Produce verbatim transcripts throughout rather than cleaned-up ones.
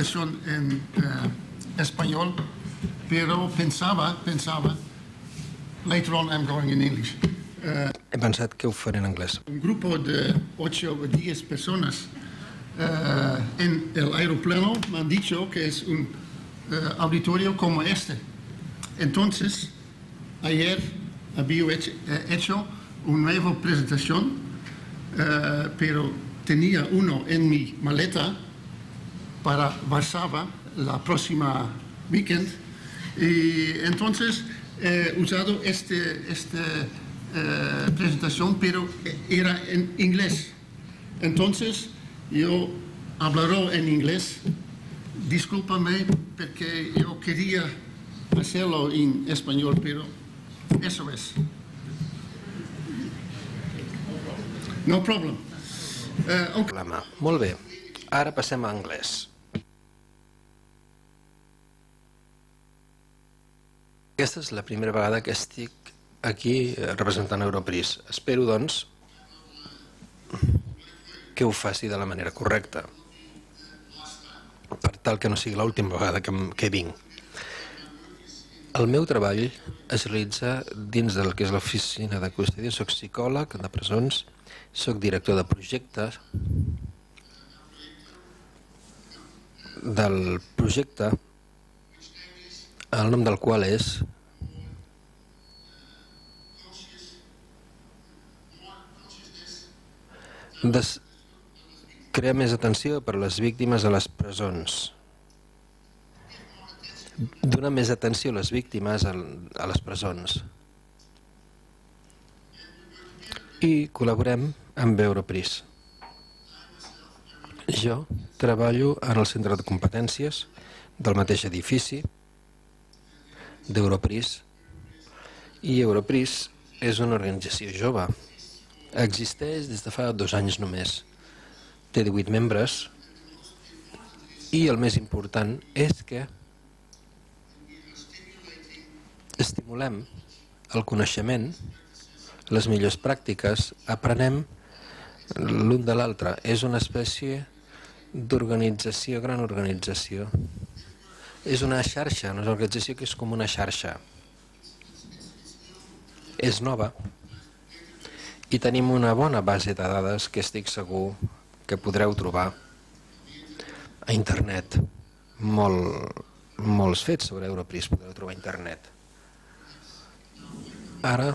presentación en uh, español, pero pensaba, pensaba, later on I'm going in English. Uh, He pensat que ho faré en anglès. un grupo de ocho o diez personas uh, en el aeroplano me han dicho que es un uh, auditorio como este. Entonces, ayer había hecho, hecho una nueva presentación, uh, pero tenía uno en mi maleta para Varsovia la próxima weekend, y entonces he usado este, esta uh, presentación, pero era en inglés. Entonces yo hablaré en inglés. Discúlpame porque yo quería hacerlo en español, pero eso es. No problem. Uh, okay. Molt bé, ara passem a anglès. Aquesta és la primera vegada que estic aquí representant Europris. Espero, doncs, que ho faci de la manera correcta, per tal que no sigui l'última vegada que, que vinc. El meu treball es realitza dins del que és l'oficina de custòdia. Soc psicòleg de presons, soc director de projectes del projecte, el nom del qual és Des... crear més atenció per a les víctimes a les presons. Donar més atenció a les víctimes a les presons. I col·laborem amb Europris. Jo treballo en el centre de competències del mateix edifici d'Europris, i Europris és una organització jove. Existeix des de fa dos anys només. Té divuit membres i el més important és que estimulem el coneixement, les millors pràctiques, aprenem l'un de l'altre. És una espècie d'organització, gran organització. És una xarxa, una organització que és com una xarxa. És nova i tenim una bona base de dades que estic segur que podreu trobar a internet. Molt, molts fets sobre Europris podreu trobar a internet. Ara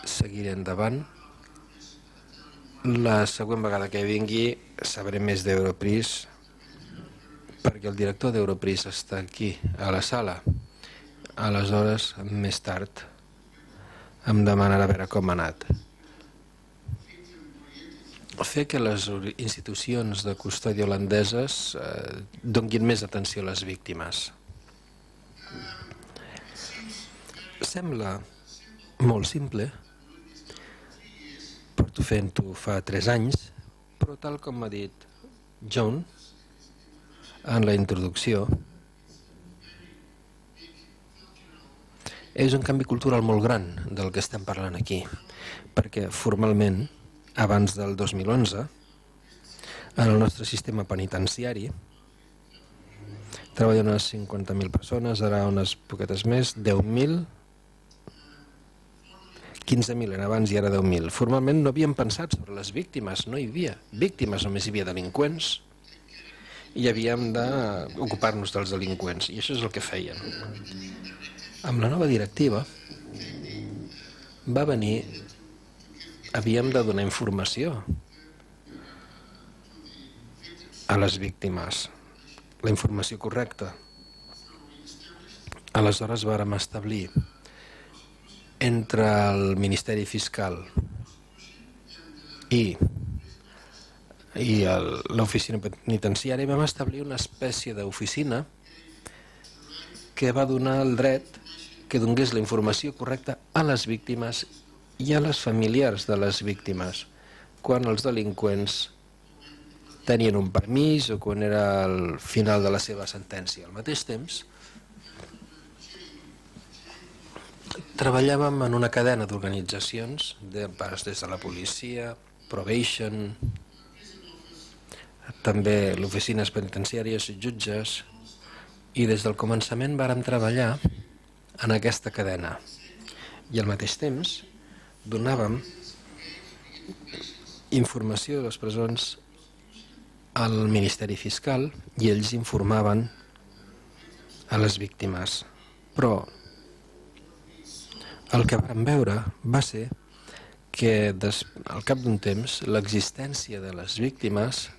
seguiré endavant. La següent vegada que vingui sabré més d'Europris, perquè el director d'Europris està aquí, a la sala. Aleshores, més tard, em demanarà a veure com ha anat. Fer que les institucions de custòdia holandeses eh, donguin més atenció a les víctimes. Sembla molt simple, porto fent-ho fa tres anys, però tal com m'ha dit John en la introducció, és un canvi cultural molt gran del que estem parlant aquí, perquè formalment, abans del dos mil onze, en el nostre sistema penitenciari, treballen unes cinquanta mil persones, ara unes poquetes més, deu mil, quinze mil en abans i ara deu mil. Formalment no havíem pensat sobre les víctimes, no hi havia víctimes, només hi havia delinqüents i havíem d'ocupar-nos dels delinqüents, i això és el que feien. Amb la nova directiva va venir, havíem de donar informació a les víctimes, la informació correcta. Aleshores vàrem establir entre el Ministeri Fiscal i, i l'oficina penitenciària vam establir una espècie d'oficina que va donar el dret que donés la informació correcta a les víctimes i a les familiars de les víctimes quan els delinqüents tenien un permís o quan era el final de la seva sentència. Al mateix temps, treballàvem en una cadena d'organitzacions, des de la policia, probation, també l'oficines penitenciàries, jutges, i des del començament vàrem treballar en aquesta cadena. I al mateix temps donàvem informació de les presons al Ministeri Fiscal i ells informaven a les víctimes. Però el que vam veure va ser que des, al cap d'un temps l'existència de les víctimes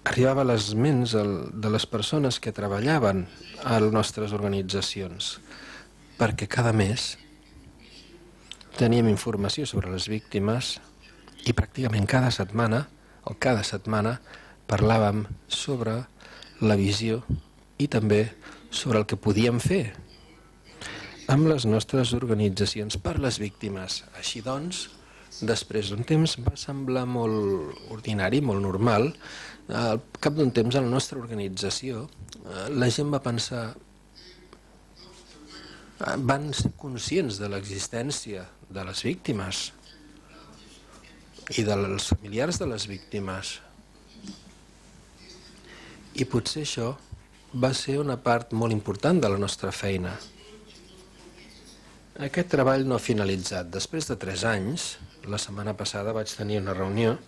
arribava a les ments de les persones que treballaven a les nostres organitzacions, perquè cada mes teníem informació sobre les víctimes i pràcticament cada setmana o cada setmana parlàvem sobre la visió i també sobre el que podíem fer amb les nostres organitzacions per les víctimes. Així doncs, després d'un temps va semblar molt ordinari, molt normal. Al cap d'un temps a la nostra organització la gent va pensar, van ser conscients de l'existència de les víctimes i dels familiars de les víctimes. I potser això va ser una part molt important de la nostra feina. Aquest treball no ha finalitzat. Després de tres anys, la setmana passada vaig tenir una reunió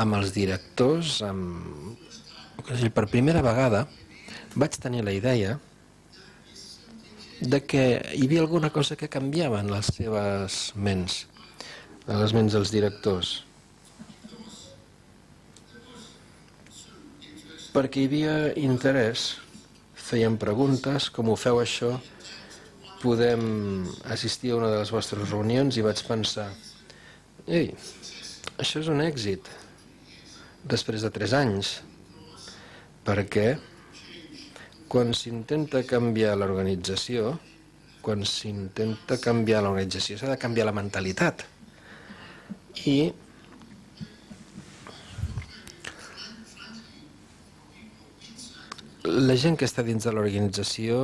amb els directors, amb... per primera vegada vaig tenir la idea de que hi havia alguna cosa que canviava en les seves ments, en les ments dels directors. Perquè hi havia interès, feien preguntes, com ho feu això? Podem assistir a una de les vostres reunions i vaig pensar, ei, això és un èxit després de tres anys, perquè quan s'intenta canviar l'organització, quan s'intenta canviar l'organització s'ha de canviar la mentalitat. I la gent que està dins de l'organització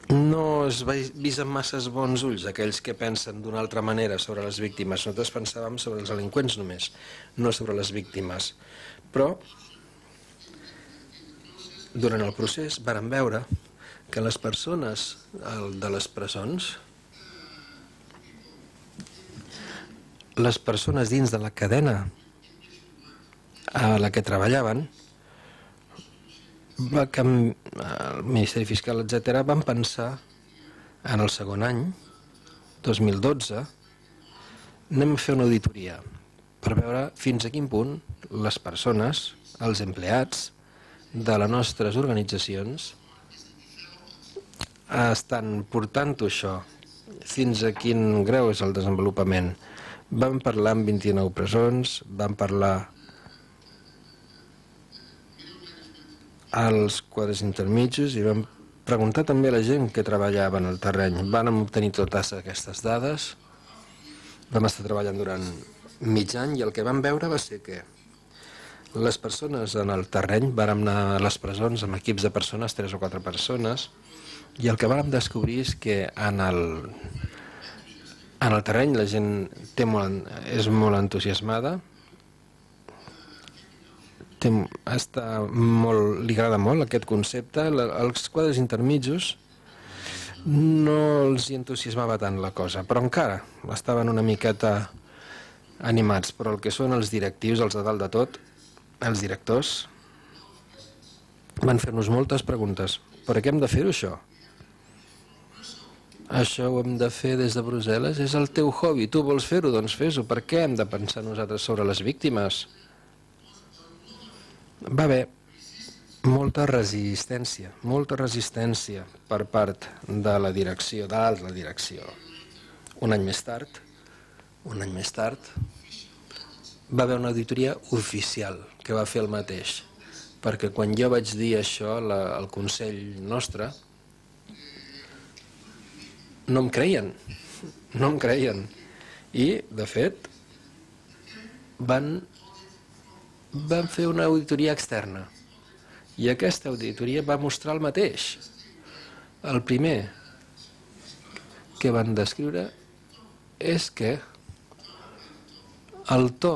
no es vist amb masses bons ulls aquells que pensen d'una altra manera sobre les víctimes. Nosaltres pensàvem sobre els delinqüents només, no sobre les víctimes. Però durant el procés vàrem veure que les persones de les presons, les persones dins de la cadena a la que treballaven, va canvi... el Ministeri Fiscal, etcètera, van pensar en el segon any, dos mil dotze, anem a fer una auditoria per veure fins a quin punt les persones, els empleats de les nostres organitzacions estan portant-ho això, fins a quin grau és el desenvolupament. Vam parlar amb vint-i-nou presons, vam parlar als quadres intermitjos i vam preguntar també a la gent que treballava en el terreny. Vam obtenir totes aquestes dades, vam estar treballant durant mig any i el que vam veure va ser que les persones en el terreny, vàrem anar a les presons amb equips de persones, tres o quatre persones, i el que vàrem descobrir és que en el, en el terreny la gent té molt, és molt entusiasmada, Té, està molt, li agrada molt aquest concepte. Els quadres intermitjos no els entusiasmava tant la cosa, però encara estaven una miqueta animats. Però el que són els directius, els de dalt de tot, els directors, van fer-nos moltes preguntes. Per què hem de fer-ho, això? Això ho hem de fer des de Brussel·les? És el teu hobby, tu vols fer-ho? Doncs fes-ho. Per què hem de pensar nosaltres sobre les víctimes? Va haver molta resistència, molta resistència per part de la direcció, de l'alta direcció. Un any més tard, un any més tard, va haver una auditoria oficial que va fer el mateix, perquè quan jo vaig dir això al Consell nostre, no em creien, no em creien. I, de fet, van... van fer una auditoria externa i aquesta auditoria va mostrar el mateix. El primer que van descriure és que el to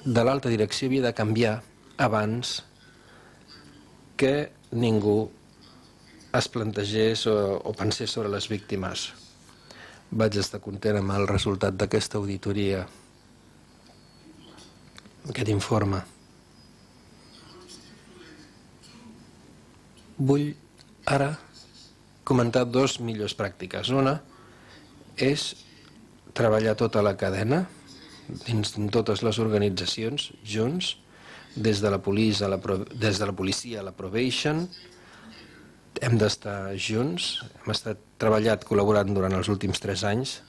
de l'alta direcció havia de canviar abans que ningú es plantegés o, o pensés sobre les víctimes. Vaig estar content amb el resultat d'aquesta auditoria, aquest informe. Vull ara comentar dos millors pràctiques. Una és treballar tota la cadena, dins de totes les organitzacions, junts, des de la policia a la, des de la policia a la probation. Hem d'estar junts, hem estat treballat, col·laborant durant els últims tres anys,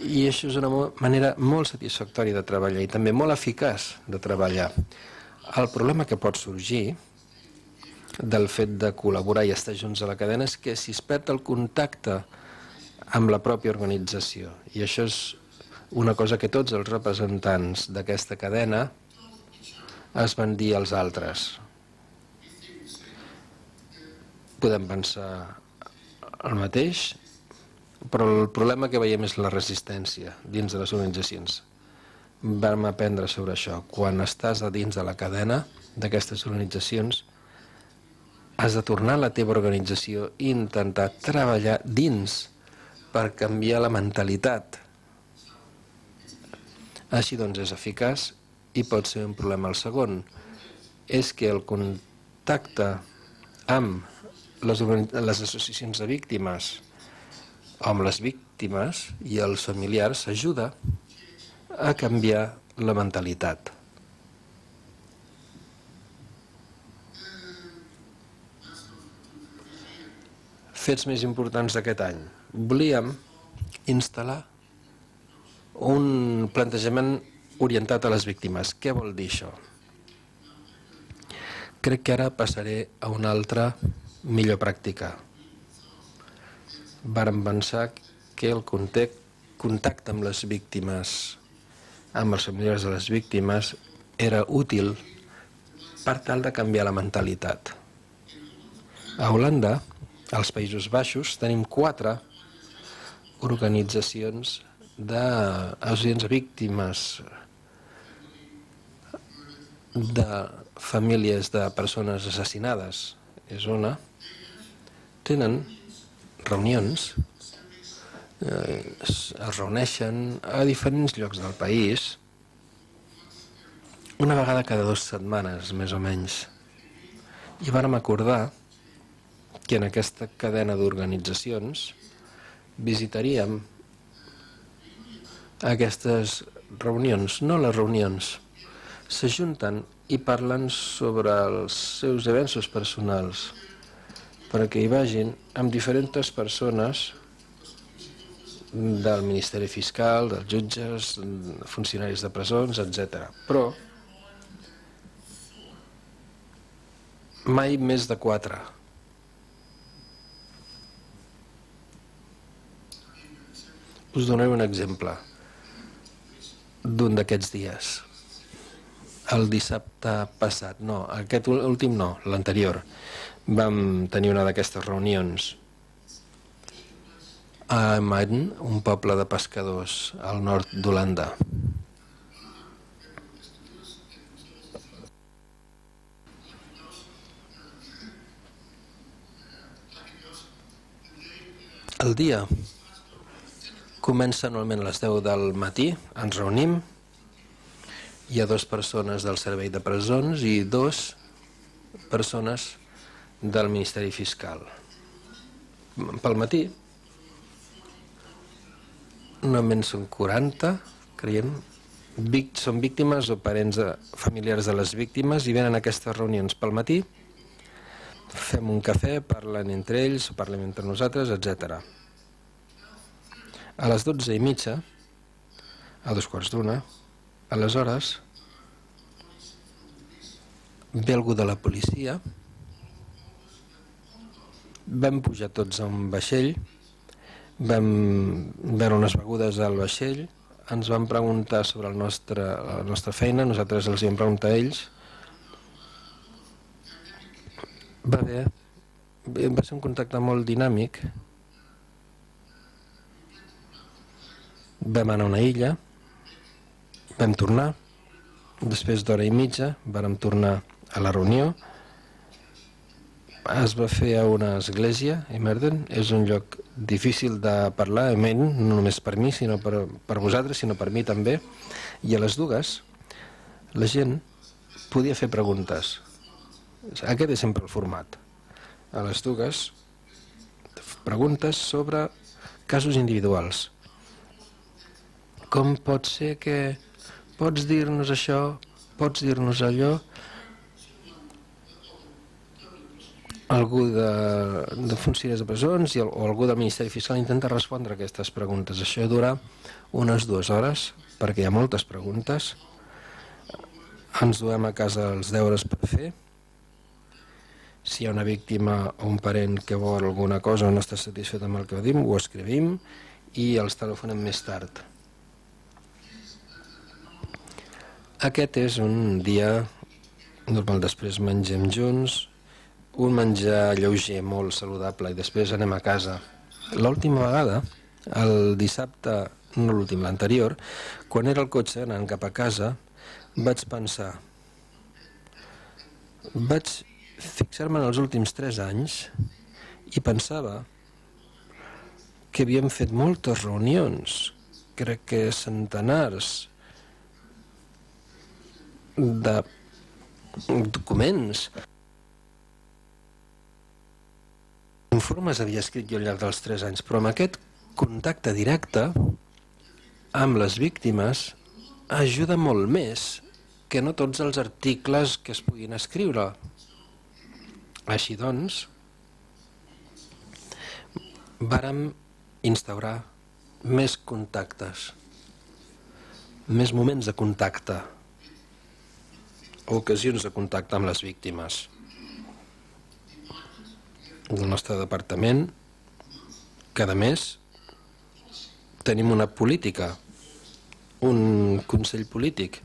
i això és una manera molt satisfactòria de treballar i també molt eficaç de treballar. El problema que pot sorgir del fet de col·laborar i estar junts a la cadena és que si es perd el contacte amb la pròpia organització, i això és una cosa que tots els representants d'aquesta cadena es van dir als altres. Podem pensar el mateix, però el problema que veiem és la resistència dins de les organitzacions. Vam aprendre sobre això. Quan estàs a dins de la cadena d'aquestes organitzacions, has de tornar a la teva organització i intentar treballar dins per canviar la mentalitat. Així doncs és eficaç i pot ser un problema. El segon és que el contacte amb les, les associacions de víctimes o amb les víctimes i els familiars ajuda a canviar la mentalitat. Fets més importants d'aquest any. Volíem instal·lar un plantejament orientat a les víctimes. Què vol dir això? Crec que ara passaré a una altra millor pràctica. Vàrem pensar que el contacte amb les víctimes, amb els familiars de les víctimes, era útil per tal de canviar la mentalitat. A Holanda, als Països Baixos, tenim quatre organitzacions d'associacions víctimes de famílies de persones assassinades. És una. Tenen reunions, eh, es reuneixen a diferents llocs del país, una vegada cada dues setmanes, més o menys. I vàrem acordar que en aquesta cadena d'organitzacions visitaríem aquestes reunions, no les reunions, s'ajunten i parlen sobre els seus avenços personals, perquè hi vagin amb diferents persones del Ministeri Fiscal, dels jutges, funcionaris de presons, etcètera. Però mai més de quatre. Us donaré un exemple d'un d'aquests dies. El dissabte passat, no, aquest últim no, l'anterior, vam tenir una d'aquestes reunions a Maden, un poble de pescadors al nord d'Holanda. El dia comença normalment a les deu del matí, ens reunim, hi ha dues persones del servei de presons i dues persones del Ministeri Fiscal. Pel matí, normalment són quaranta, creiem, són víctimes o parents familiars de les víctimes i venen a aquestes reunions pel matí, fem un cafè, parlen entre ells, parlem entre nosaltres, etcètera. A les dotze i mitja, a dos quarts d'una, aleshores ve algú de la policia, vam pujar tots a un vaixell, vam veure unes begudes al vaixell, ens van preguntar sobre el nostre, la nostra feina, nosaltres els vam preguntar a ells. Va bé, va ser un contacte molt dinàmic Vam anar a una illa, vam tornar, després d'hora i mitja vàrem tornar a la reunió. Es va fer a una església, Imerden, és un lloc difícil de parlar, no només per mi, sinó per, per vosaltres, sinó per mi també, i a les dues la gent podia fer preguntes. Aquest és sempre el format. A les dues, preguntes sobre casos individuals. Com pot ser que pots dir-nos això, pots dir-nos allò? Algú de, de funcionaris de presons i, o algú del Ministeri Fiscal intenta respondre a aquestes preguntes. Això dura unes dues hores, perquè hi ha moltes preguntes. Ens duem a casa els deures per fer. Si hi ha una víctima o un parent que vol alguna cosa o no està satisfet amb el que diu, ho escrivim i els telefonem més tard. Aquest és un dia normal. Després mengem junts, un menjar lleuger, molt saludable, i després anem a casa. L'última vegada, el dissabte, no l'últim, l'anterior, quan era al cotxe anant cap a casa, vaig pensar, vaig fixar-me en els últims tres anys i pensava que havíem fet moltes reunions, crec que centenars de documents, informes havia escrit jo al llarg dels tres anys, però amb aquest contacte directe amb les víctimes ajuda molt més que no tots els articles que es puguin escriure. Així doncs, vàrem instaurar més contactes, més moments de contacte, ocasions de contacte amb les víctimes. El nostre departament, cada mes, tenim una política, un consell polític.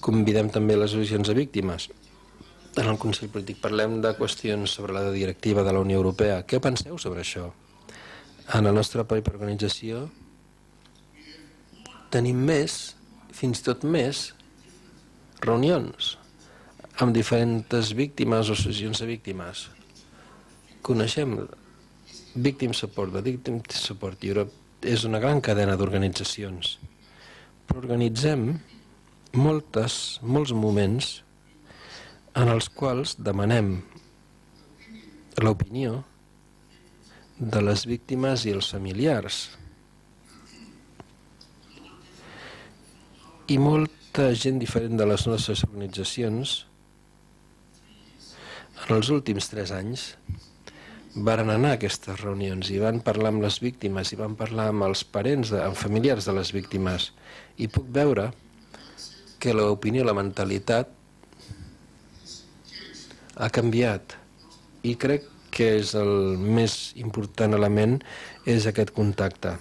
Convidem també les associacions de víctimes. En el consell polític parlem de qüestions sobre la directiva de la Unió Europea. Què penseu sobre això? En la nostra pròpia organització tenim més, fins i tot més, reunions amb diferents víctimes o associacions de víctimes. Coneixem Victim Support, Victim Support Europe és una gran cadena d'organitzacions, però organitzem moltes, molts moments en els quals demanem l'opinió de les víctimes i els familiars. I molta gent diferent de les nostres organitzacions en els últims tres anys varen anar a aquestes reunions i van parlar amb les víctimes i van parlar amb els parents, de, amb familiars de les víctimes, i puc veure que l'opinió, la mentalitat ha canviat, i crec que és el més important element, és aquest contacte.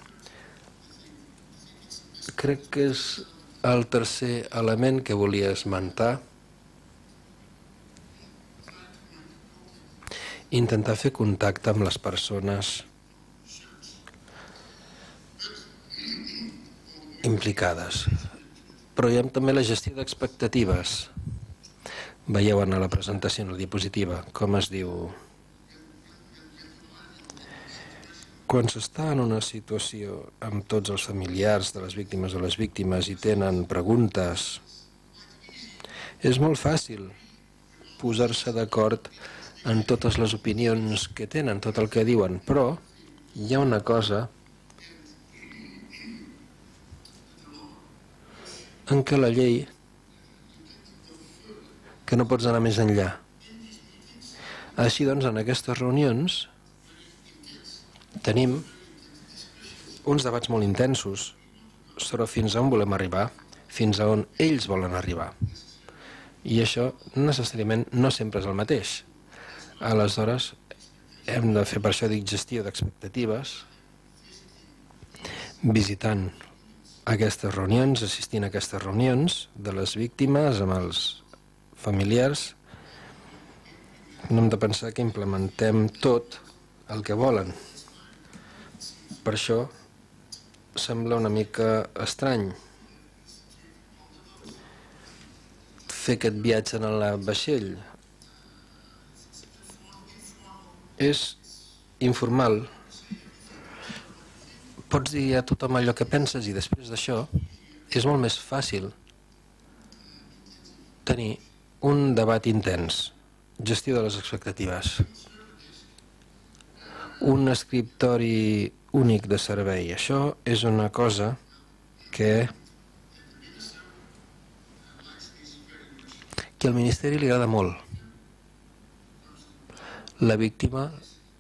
Crec que és el tercer element que volia esmentar, intentar fer contacte amb les persones implicades. Però hi ha també la gestió d'expectatives. Veieu en la presentació, en la diapositiva, com es diu. Quan s'està en una situació amb tots els familiars de les víctimes o les víctimes i tenen preguntes, és molt fàcil posar-se d'acord en totes les opinions que tenen, tot el que diuen, però hi ha una cosa en què la llei que no pots anar més enllà. Així doncs, en aquestes reunions tenim uns debats molt intensos sobre fins a on volem arribar, fins a on ells volen arribar. I això necessàriament no sempre és el mateix. Aleshores, hem de fer, per això dic, gestió d'expectatives, visitant aquestes reunions, assistint a aquestes reunions de les víctimes amb els familiars. No hem de pensar que implementem tot el que volen. Per això sembla una mica estrany fer aquest viatge en el vaixell. És informal. Pots dir a tothom allò que penses i després d'això és molt més fàcil tenir un debat intens, gestió de les expectatives, un escriptori únic de servei. Això és una cosa que, que al Ministeri li agrada molt. La víctima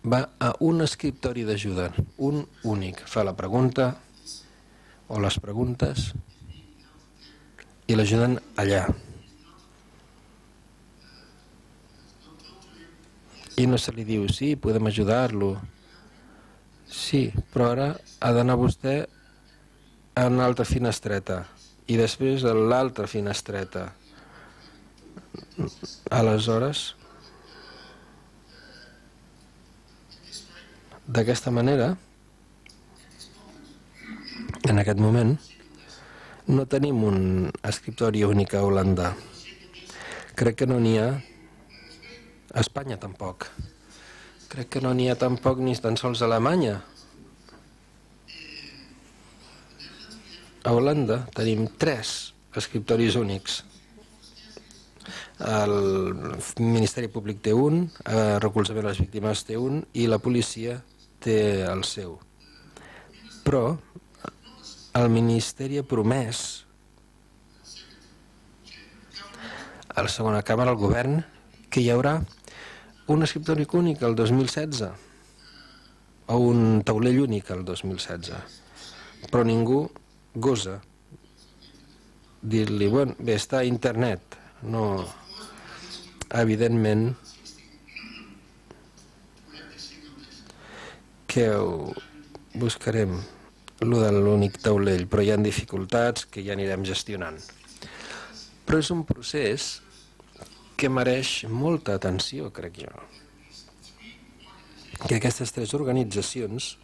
va a un escriptori d'ajuda, un únic. Fa la pregunta o les preguntes i l'ajuden allà. I no se li diu, sí, podem ajudar-lo. Sí, però ara ha d'anar vostè a una altra finestreta i després a l'altra finestreta. Aleshores, d'aquesta manera, en aquest moment, no tenim un escriptori únic a Holanda. Crec que no n'hi ha a Espanya tampoc. Crec que no n'hi ha tampoc ni tan sols a Alemanya. A Holanda tenim tres escriptoris únics. El Ministeri Públic té un, el recolzament a les víctimes té un i la policia té el seu. Però el Ministeri ha promès a la segona càmera, al govern, que hi haurà un escriptori únic el dos mil setze o un taulell únic el dos mil setze, però ningú gosa dir-li, bueno, bé, està a internet. No, evidentment que ho buscarem, lo de l'únic taulell, però hi ha dificultats que ja anirem gestionant. Però és un procés que mereix molta atenció, crec jo. Que aquestes tres organitzacions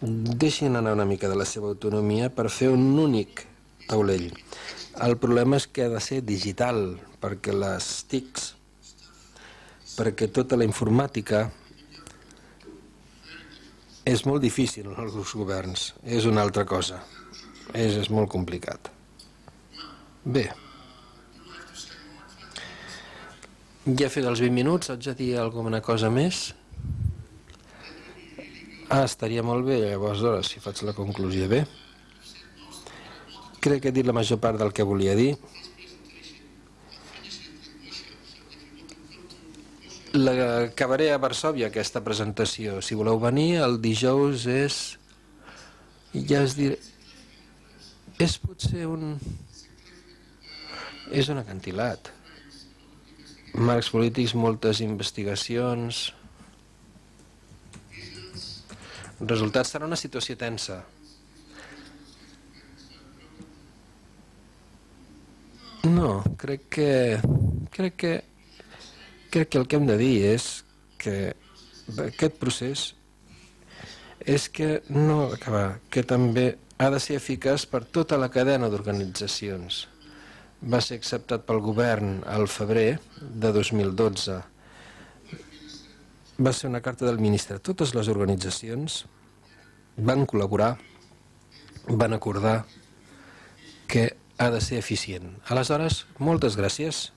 deixin anar una mica de la seva autonomia per fer un únic taulell. El problema és que ha de ser digital, perquè les T I Cs, perquè tota la informàtica és molt difícil en els governs, és una altra cosa, és, és molt complicat. Bé, ja he fet els vint minuts, haig de dir alguna cosa més? Ah, estaria molt bé, llavors, si faig la conclusió bé. Crec que he dit la major part del que volia dir. L'acabaré a Varsòvia, aquesta presentació. Si voleu venir, el dijous és... ja es diré... és potser un... és un acantilat. Marcs polítics, moltes investigacions... Resultats, serà una situació tensa. No, crec que... crec que... crec que el que hem de dir és que aquest procés és que no acabar, que també ha de ser eficaç per tota la cadena d'organitzacions. Va ser acceptat pel govern al febrer de dos mil dotze. Va ser una carta del ministre. Totes les organitzacions van col·laborar, van acordar que ha de ser eficient. Aleshores, moltes gràcies.